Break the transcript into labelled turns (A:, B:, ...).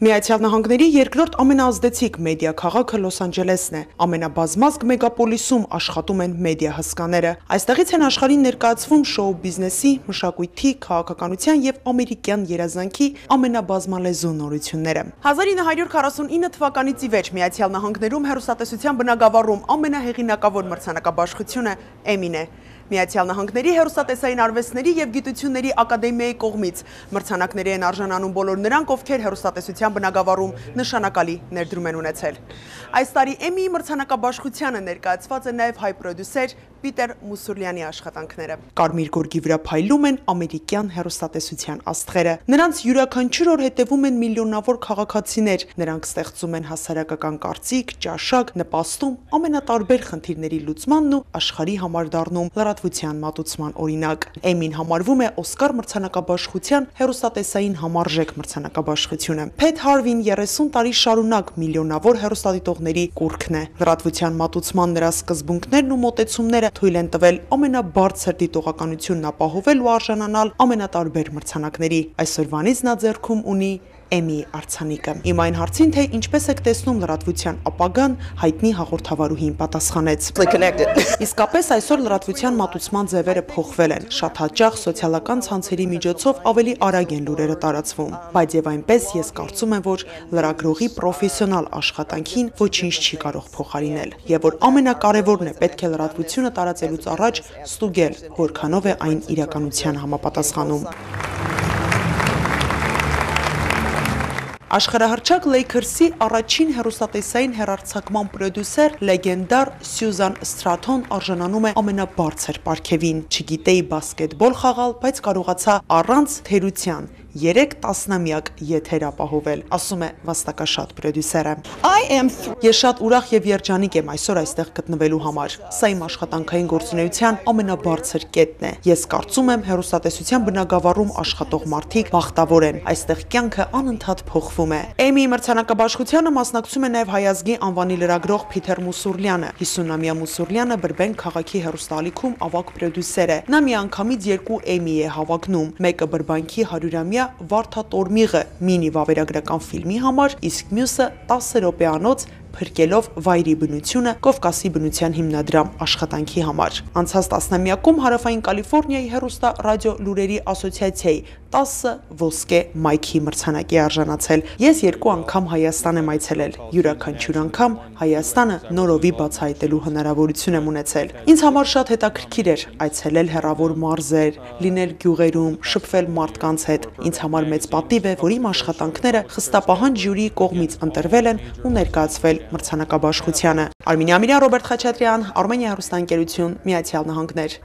A: Միացյալ Նահանգների երկրորդ ամենաազդեցիկ մեդիա քաղաքը Լոս Անջելեսն է։ Ամենաբազմազգ մեգապոլիսում աշխատում են մեդիա հսկաները։ Այստեղից են աշխարհին ներկայացվում շոու բիզնեսի, մշակույթի, քաղաքականության եւ ամերիկյան երազանքի ամենաբազմալեզու նորությունները։ 1949 թվականից ի վեր Միացյալ Նահանգներում հեռուստատեսության բնագավառում ամենահեղինակավոր մրցանակաբաշխությունը Էմին է։ Միացյալ Նահանգների հեռուստատեսային արվեստների եւ գիտությունների ակադեմիայի կողմից մրցանակների են արժանանում բոլոր նրանք, ովքեր հեռուստատեսության բնագավառում նշանակալի ներդրում են ունեցել։ Այս տարի Էմիի մրցանակաբաշխությանը ներկայացված է նաեւ հայ պրոդյուսեր Պիտեր Մուսուրլյանի աշխատանքները։ Կարմիր գորգի վրա փայլում են ամերիկյան հեռուստատեսության աստղերը։ Նրանց յուրաքանչյուր օր հետևում են միլիոնավոր քաղաքացիներ։ Նրանք ստեղծում են հասարակական կարծիք, ճաշակ, նպաստում ամենատարբեր խնդիրների լուծմանն ու աշխարհի համար դառնում լրատվության մատուցման օրինակ։ Էմին համարվում է Օսկար մրցանակաբաշխության հեռուստատեսային համարժեք մրցանակաբաշխությունը։ Փեթ Հարվին 30 տարի շարունակ միլիոնավոր հեռուստադիտողների կուռքն է։ Լրատվության մատուցման նրա սկզբունքներն ու մոտեցումները թույլ են տվել ամենաբարձր դիտողականությունն ապահովել ու արժանանալ ամենատարբեր մրցանակների։ Այսօրվանից նա ձեռքում ունի Էմի արձանիկը։ Իմ այն հարցին, թե ինչպես եք տեսնում լրատվության ապագան, հայտնի հաղորդավարուհին պատասխանեց. Իսկապես այսօր լրատվության մատուցման ձևերը փոխվել են։ Շատ հաճախ սոցիալական ցանցերի միջոցով ավելի արագ են լուրերը տարածվում, բայց եւ այնպես ես կարծում եմ, որ լրագրողի պրոֆեսիոնալ աշխատանքին ոչինչ չի կարող փոխարինել, եւ որ ամենակարևորն է պետք է լրատվությունը տարածելուց առաջ ստուգել, որքանով է այն իրականության համապատասխանում։ Աշխարհահռչակ Lakers-ի առաջին հեռուստատեսային հեռարձակման պրոդյուսեր լեգենդար Սյուզան Սթրաթոն արժանանում է ամենաբարձր պարգևին։ Չգիտեի բասկետբոլ խաղալ, բայց կարողացա առանց թերության 3 տասնամյակ եթեր ապահովել, ասում է վաստակաշատ պրոդյուսերը։ Ես շատ ուրախ եւ երջանիկ եմ այսօր այստեղ գտնվելու համար։ Սա իմ աշխատանքային գործունեության ամենաբարձր կետն է։ Ես կարծում եմ հեռուստատեսության բնագավառում աշխատող մարդիկ բախտավոր են։ Այստեղ կյանքը անընդհատ փոխվում է։ Էմիի մրցանակաբաշխությանը մասնակցում է նաեւ հայազգի անվանի լրագրող Պիտեր Մուսուրլյանը։ 50-ամյա Մուսուրլյանը Բրբենկ քաղաքի հեռուստաալիքում ավագ պրոդյուսեր է։ Նա միանգամից 2 Էմի է հավակնում, մեկը Բրբանկի 100-ամյա Վարդա Տորմիղը մինի վավերագրական ֆիլմի համար, իսկ մյուսը 10 րոպեանոց փրկելով վայրի բնությունը Կովկասի բնության հիմնադրամ աշխատանքի համար։ Անցած տասնամյակում Հարավային Կալիֆոռնիայի հեռուստա ռադիո լուրերի ասոցիացիայի 10 ոսկե մայքի մրցանակի արժանացել։ Ես 2 անգամ Հայաստան եմ այցելել։ Յուրաքանչյուր անգամ Հայաստանը նորովի բացահայտելու հնարավորություն եմ ունեցել։ Ինձ համար շատ հետաքրքիր էր այցելել հեռավոր մարզեր, լինել գյուղերում, շփվել մարդկանց հետ։ Ինձ համար մեծ պատիվ է, որ իմ աշխատանքները խստապահան ժյուրիի կողմից ընտրվել են ու ներկայացվել մրցանակաբաշխությանը։ Արմինե Ամիրյան, Ռոբերտ Խաչատրյան, Արմենիա հեռուստաընկերություն, Միացյալ Նահանգներ։